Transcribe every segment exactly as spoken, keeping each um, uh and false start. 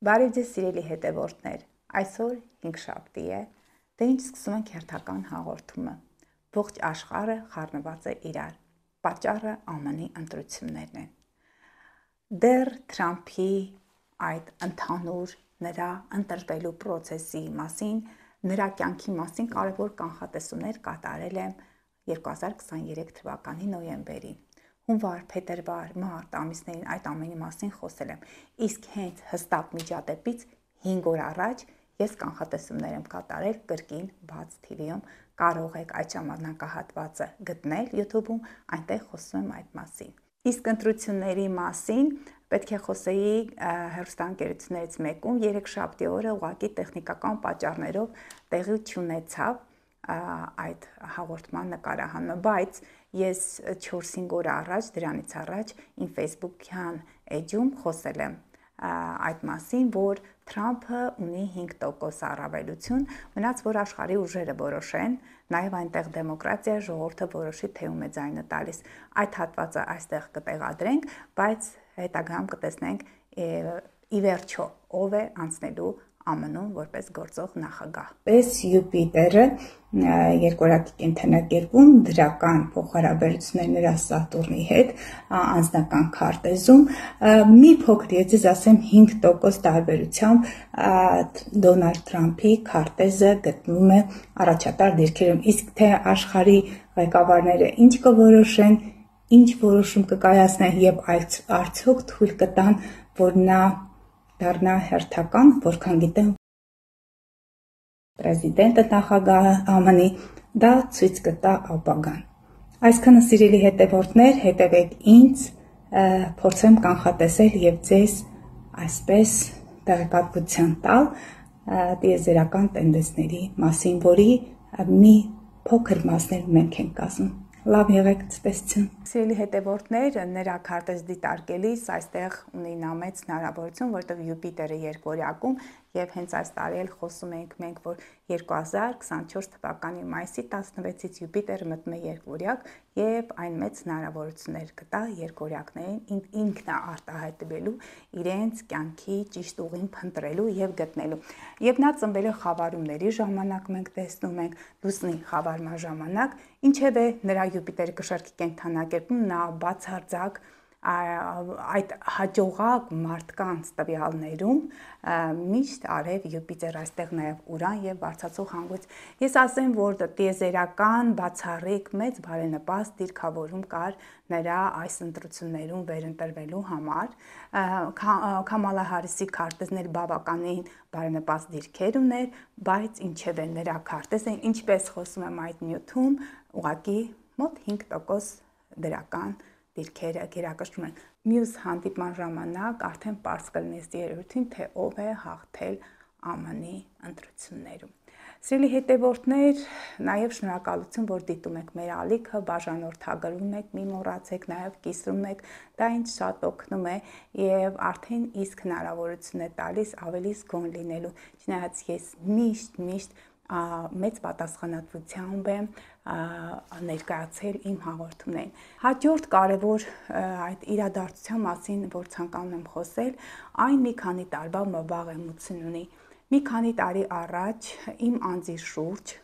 Բարև ձեզ սիրելի հետևորդներ, այսօր հինգշաբթի է, դե ինչ սկսում ենք հերթական հաղորդումը, ողջ աշխարհը խառնված է իրար, պատճառը Α M N-ի ընտրություններն են։ Դեռ Թրամփի այդ ընդհանուր նրա ընտրվելու process-ի մասին, նրա կյանքի մասին կարևոր կանխատեսումներ կատարել եմ երկու հազար քսաներեք թվականի նոյեմբերին։ Հունվար, փետրվար, մարտ ամիսներին այդ ամենի մասին խոսել եմ, իսկ հենց հստակ միջադեպից հինգ օր առաջ ես կանխատեսումներ եմ կատարել կրկին բաց T V-ում, կարող եք այդ ժամանակահատվածը գտնել YouTube-ում, այնտեղ խոսում եմ այդ մասին։ Իսկ ընտրությունների մասին պետք է խոսեի հեռուստաընկերություններից մեկում, երեքշաբթի օրը ուղղակի տեխնիկական պատճառներով տեղի չունեցավ այդ հաղորդման նկարահանումը, բայց ես չորս-հինգ օր առաջ, դրանից առաջ իմ Facebook-յան էջում խոսել եմ այդ մասին, որ Թրամփը ունի հինգ տոկոս առավելություն, մնաց որ աշխարհի ուժերը որոշեն, նաև այնտեղ դեմոկրատիա, ժողովուրդը որոշի թե ում է ձայնը տալիս։ Այդ հատվածը այստեղ կտեղադրենք, բայց հետագայում կտեսնենք ի վերջո ով է անցնելու A M N-ում որպես գործող նախագահ։ Պես Յուպիտերը երկորակի կենտրոնակերպում դրական փոխհարաբերություններ նրա Սատուրնի հետ անձնական քարտեզում մի փոքր ես ձեզ ասեմ հինգ տոկոս տարբերությամբ Դոնալդ Թրամփի քարտեզը գտնվում է առաջատար դիրքերում, իսկ թե աշխարհի ղեկավարները ինչ կորոշեն, ինչ որոշում կկայացնեն եւ արդյոք թույլ կտան, որ նա դառնա հերթական, որքան գիտեմ Պրեզիդենտը նախագահը A M N-ի, դա ցույց կտա ապագան։ Այսքանը սիրելի հետևորդներ, հետևեք ինձ, փորձեմ կանխատեսել եւ ձեզ այսպես տեղեկատվություն տալ տիեզերական տենդենսների մասին, որի մի փոքր մասներ մենք ենք կազմում։ Լավ եղեք, ցտեսություն։ Սիրելի հետևորդներ, նրա քարտեզ դիտարկելիս այստեղ ունի նա մեծ հնարավորություն, որտեղ Յուպիտերը երկորյակում եւ հենց այս տարի էլ խոսում ենք մենք, որ երկու հազար քսանչորս թվականի մայիսի տասնվեցից Յուպիտերը մտնում է երկորյակ եւ այն մեծ հնարավորություններ կտա երկորյակներին ինքնա արտահայտվելու, իրենց կյանքի ճիշտ ուղին փնտրելու եւ գտնելու։ Եվ նա ծնվել է խավարումների ժամանակ, մենք տեսնում ենք լուսնի խավարման ժամանակ, ինչևէ նրա Յուպիտերը կշարքի կենտրոնակերպում նա բացարձակ այդ հաջողակ մարդկանց տվյալներում միշտ արև Յուպիտեր, այստեղ նաև Ուրան եւ բարձրացող հանգույց։ Ես ասեմ, որ տիեզերական բացառիկ մեծ բարենպաստ դիրքավորում կար նրա այս ընտրություններում վերընտրվելու համար։ Քամալա Հարիսի քարտեզներ բավականին բարենպաստ դիրքեր ուներ, բայց ինչևէ նրա քարտեզը, ինչպես խոսում եմ այդ նյութում, ուղղակի մոտ հինգ տոկոս դրական դիրքերը գերակշռում են։ Մյուս հանդիպման ժամանակ արդեն պարզ կլինի երևույթին, թե ով է հաղթել A M N-ի ընտրություններում։ Սիրելի հետևորդներ, նաև շնորհակալություն, որ դիտում եք մեր ալիքը, բաժանորդագրում եք, մի մոռացեք, նաև կիսում եք, դա ինձ շատ օգնում է եւ արդեն իսկ հնարավորություն է տալիս ավելի զգոն լինելու։ Չնայած ես միշտ միշտ մեծ պատասխանատվությամբ եմ ներկայացել իմ հաղորդումներին։ Հաջորդ կարևոր այդ իրադարձության մասին, որ ցանկանում եմ խոսել, այն մի քանի տարվա մվաղեմություն ունի։ Մի քանի տարի առաջ իմ անձի շուրջ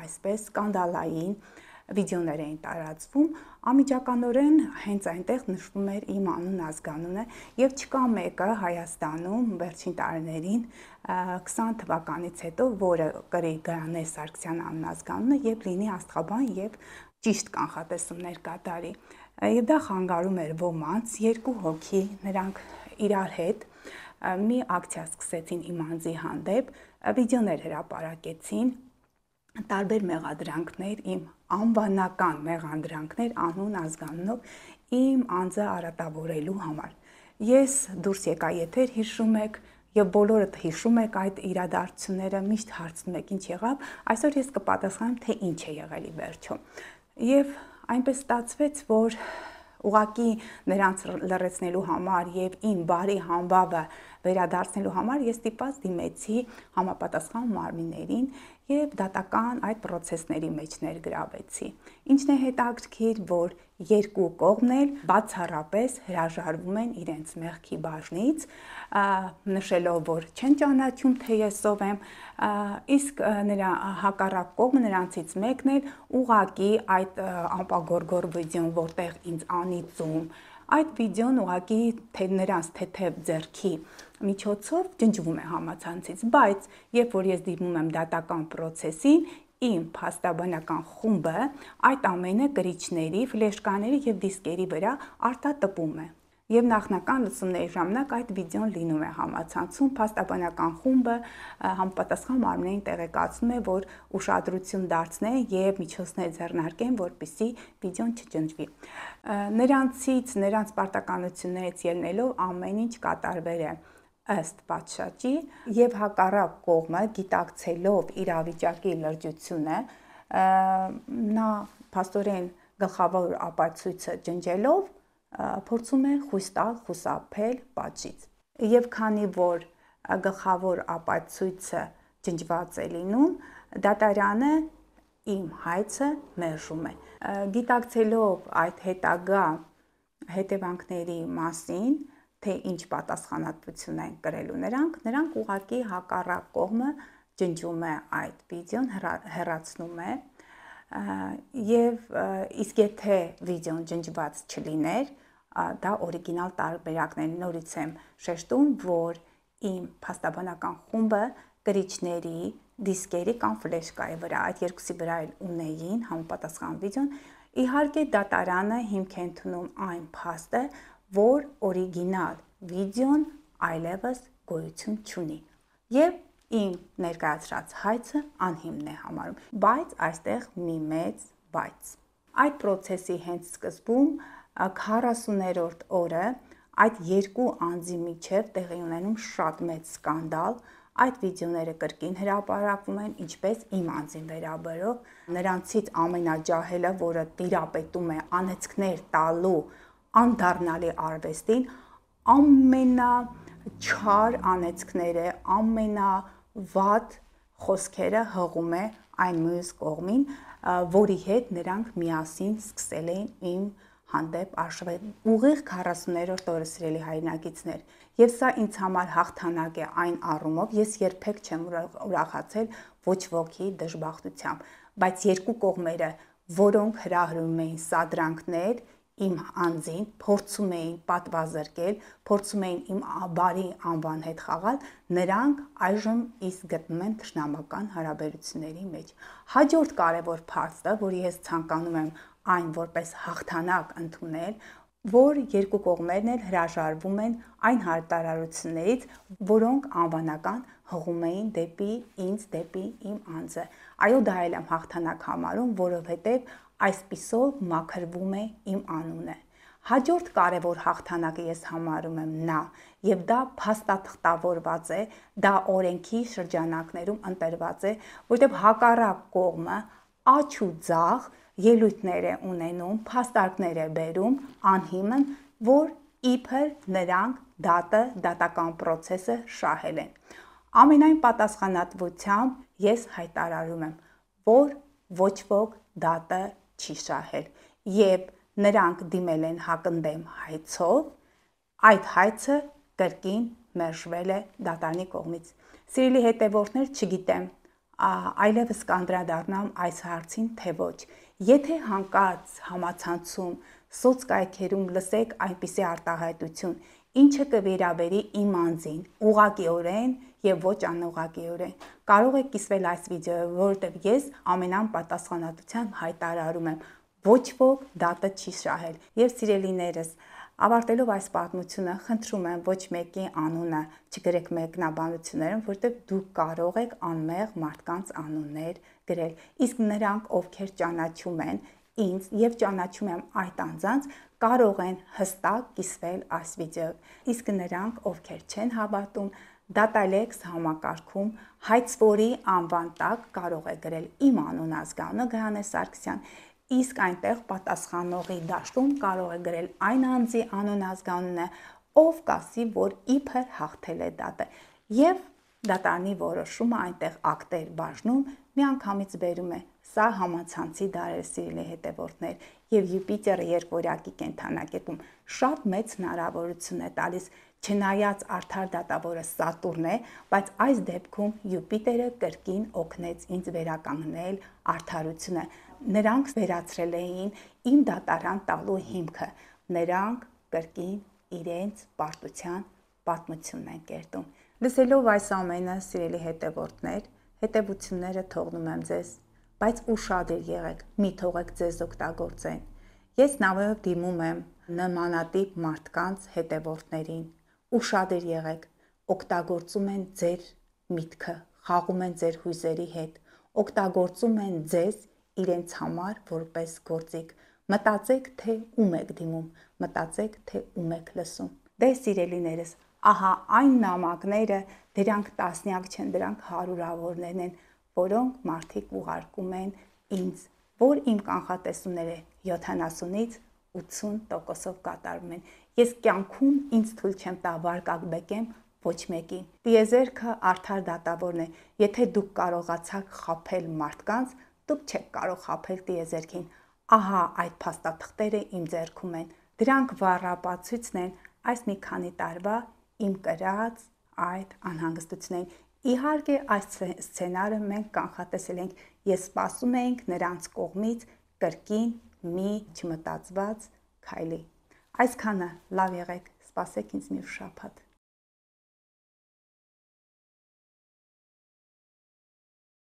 այսպես սկանդալային վիդեոներ էին տարածվում, անմիջականորեն հենց այնտեղ նշվում էր իմ անուն ազգանունը եւ չկա մեկը Հայաստանում վերջին տարիներին քսան թվականից հետո, որը կրի Գայանե Սարգսյան անուն ազգանունը եւ լինի աստղաբան եւ ճիշտ կանխատեսումներ կատարի։ Եվ դա խանգարում էր ոմանց, երկու հոգի, նրանք իրար հետ մի ակցիա սկսեցին իմ անձի հանդեպ, վիդեոներ հրապարակեցին, տարբեր մեղադրանքներ, իմ անվանական մեղադրանքներ անուն ազգանունով իմ անձը արատավորելու համար։ Ես դուրս եկա եթեր, հիշում եք, եւ բոլորդ հիշում եք այդ իրադարձությունները, միշտ հարցնում եք ինչ եղավ, այսօր ես կպատասխանեմ, թե ինչ է եղել ի վերջո։ Եվ այնպես ստացվեց, որ ուղղակի նրանց լրացնելու համար եւ իմ բարի համբավը վերադարձնելու համար ես ստիպված դիմեցի համապատասխան մարմիններին եւ դատական այդ process-ների մեջ ներգրավեցի։ Ինչն է հետաքրքիր, որ երկու կողմն էլ բացառապես հրաժարվում են իրենց մեղքի բաժնից, նշելով, որ չեն ճանաչում, թե ես ով եմ, իսկ նրա հակառակ կողմը, նրանցից մեկն էլ ուղղակի այդ անպագորգոր վիդեոն, որտեղ ինձ անիծում, այդ վիդեոն ուղղակի թե նրանց թեթև ձեռքի միջոցով ջնջվում է համացանցից, բայց երբ որ ես դիմում եմ դատական process-ին, իմ փաստաբանական խումբը այդ ամենը կրիչների, ֆլեշկաների եւ դիսկերի վրա արտատպում է։ Եվ նախնական լսումների ժամանակ այդ վիդեոն լինում է համացանցում, փաստաբանական խումբը համապատասխան մարմնին տեղեկացնում է, որ ուշադրություն դարձնեն եւ միջոցներ ձեռնարկեն, որպեսզի վիդեոն չջնջվի։ Նրանցից, նրանց պարտականություններից ելնելով ամեն ինչ կատարվել է ըստ պատշաճի եւ հակառակ կողմը գիտակցելով իրավիճակի լրջությունը, նա փաստորեն գլխավոր ապացույցը ջնջելով փորձում է խույս տալ, խուսափել պատժից։ Եվ քանի որ գլխավոր ապացույցը ջնջված է լինում, դատարանը իմ հայցը մերժում է։ Գիտակցելով այդ հետագա հետևանքների մասին, թե ինչ պատասխանատվություն են կրելու նրանք, նրանք ուղղակի հակառակ կողմը ջնջում է այդ վիդեոն, հեռացնում է, եւ իսկ եթե վիդեոն ջնջված չլիներ, դա օրիգինալ տարբերակն է, նորից եմ շեշտում, որ իմ փաստաբանական խումբը կրիչների, դիսկերի կամ ֆլեշկայի վրա, այդ երկուսի վրա էլ ունեին համապատասխան վիդեոն, իհարկե դատարանը հիմք է ընդունում այն փաստը, որ օրիգինալ վիդեոն այլևս գոյություն չունի եւ իմ ներկայացրած հայցը անհիմն է համարում, բայց այստեղ մի մեծ բայց։ Այդ process-ի հենց սկզբում քառասուներորդ օրը այդ երկու անձի միջև տեղի ունենում շատ մեծ սկանդալ, այդ վիդեոները կրկին հրապարակվում են, ինչպես իմ անձին վերաբերող, նրանցից ամենաջահելը, որը տիրապետում է անեծքներ տալու անդառնալի արվեստին, ամենաչար անեծքները, ամենավատ խոսքերը հղում է այն մյուս կողմին, որի հետ նրանք միասին սկսել էին իմ հանդեպ արշավել ուղիղ քառասուներորդ օրը, սիրելի հայրենակիցներ, եւ սա ինձ համար հաղթանակ է այն առումով, ես երբեք չեմ ուրախացել ոչ ոքի դժբախտությամբ, բայց երկու կողմերը, որոնք հրահրում էին սադրանքներ իմ անձին, փորձում էին պատվազրկել, փորձում էին իմ բարի անվան հետ խաղալ, նրանք այժմ իսկ գտնում են թշնամական հարաբերությունների մեջ։ Հաջորդ կարևոր փաստը, որի ես ցանկանում եմ այն որպես հաղթանակ ընդունել, որ երկու կողմերն էլ հրաժարվում են այն հայտարարություններից, որոնք անվանական հղում էին դեպի ինձ, դեպի իմ անձը։ Այո, դա էլ եմ հաղթանակ համարում, որովհետև այսպիսով մաքրվում է իմ անունը։ Հաջորդ կարևոր հաղթանակը ես համարում եմ նա, եւ դա փաստաթղթավորված է, դա օրենքի շրջանակներում ընտրված է, որտեղ հակառակ կողմը աչ ու ձախ ելույթներ է ունենում, փաստարկներ է բերում անհիմն, որ իբր նրանք դատը, դատական process-ը շահել են։ Ամենայն պատասխանատվությամբ ես հայտարարում եմ, որ ոչ ոք դատը չի շահել, եւ նրանք դիմել են հակընդդեմ հայցով, այդ հայցը կրկին մերժվել է դատարանի կողմից։ Սիրելի հետևորդներ, չգիտեմ, այլևս կանդրադառնամ այս հարցին, թե ոչ։ Եթե հանկարծ համացանցում, սոցկայքերում լսեք այնպիսի արտահայտություն, ինչը կվերաբերի իմ անձին, ուղղակիորեն եւ ոչ անուղղակիորեն, կարող եք կիսվել այս վիդեոյով, որովհետեւ ես ամենայն պատասխանատվությամբ հայտարարում եմ, ոչ ոք դատը չի շահել։ Եվ սիրելիներս, ավարտելով այս պատմությունը, խնդրում եմ ոչ մեկի անունը չգրեք մեկնաբանություններում, որովհետև դուք կարող եք անմեղ մարդկանց անուններ գրել, իսկ նրանք, ովքեր ճանաչում են ինձ եւ ճանաչում եմ այդ անձանց, կարող են հստակ կիսվել այս վիդեոյով, իսկ նրանք, ովքեր չեն հավատում, Data.Lex համակարգում հայցվորի անվան տակ կարող է գրել իմ անուն ազգանունը Գայանե Սարգսյան, իսկ այնտեղ պատասխանողի դաշտում կարող է գրել այն անձի անուն ազգանունը, ով կասի, որ իբր հաղթել է դատը, եւ դատարանի որոշումը այնտեղ ակտեր բաժնում միանգամից բերում է։ Սա համացանցի դար է, սիրելի հետևորդներ, եւ Յուպիտերը երկորյակի կենդանակերպում շատ մեծ հնարավորություն է տալիս, չնայած արդար դատավորը Սատուրն է, բայց այս դեպքում Յուպիտերը կրկին օգնեց ինձ վերականգնել արդարությունը։ Նրանք վերացրել էին իմ դատարան տալու հիմքը։ Նրանք կրկին իրենց պարտության պատմությունն են կերտում։ Լսելով այս ամենը, սիրելի հետևորդներ, հետևությունները թողնում եմ ձեզ, բայց ուշադիր եղեք, մի թողեք ձեզ օգտագործեն։ Ես նավով դիմում եմ նմանատիպ մարդկանց հետևորդներին։ Ուշադիր եղեք, օգտագործում են ձեր միտքը, խաղում են ձեր հույզերի հետ, օգտագործում են ձեզ իրենց համար որպես գործիք։ Մտածեք, թե ում եք դիմում, մտածեք, թե ում եք լսում։ Դե սիրելիներս, ահա այն նամակները, դրանք տասնյակ չեն, դրանք հարյուրավորներն են, որոնք մարդիկ ուղարկում են ինձ, որ իմ կանխատեսումները յոթանասունից ութսուն տոկոսով կատարվում են։ Ես կյանքում ինձ թույլ չեմ տա վարկակ բեկեմ ոչ մեկին։ Տիեզերքը արդար դատավորն է։ Եթե դուք կարողացաք խաբել մարդկանց, դուք չեք կարող խաբել տիեզերքին։ Ահա այդ փաստաթղթերը իմ ձեռքում են։ Դրանք վառապացույցն են այս մի քանի տարվա իմ կրած այդ անհանգստություններին։ Իհարկե, այս սցենարը մենք կանխատեսել ենք, ես սպասում էինք նրանց կողմից կրկին մի չմտածված քայլի։ Այսքանը, լավ եղեք, սպասեք ինձ մյուս շաբաթ։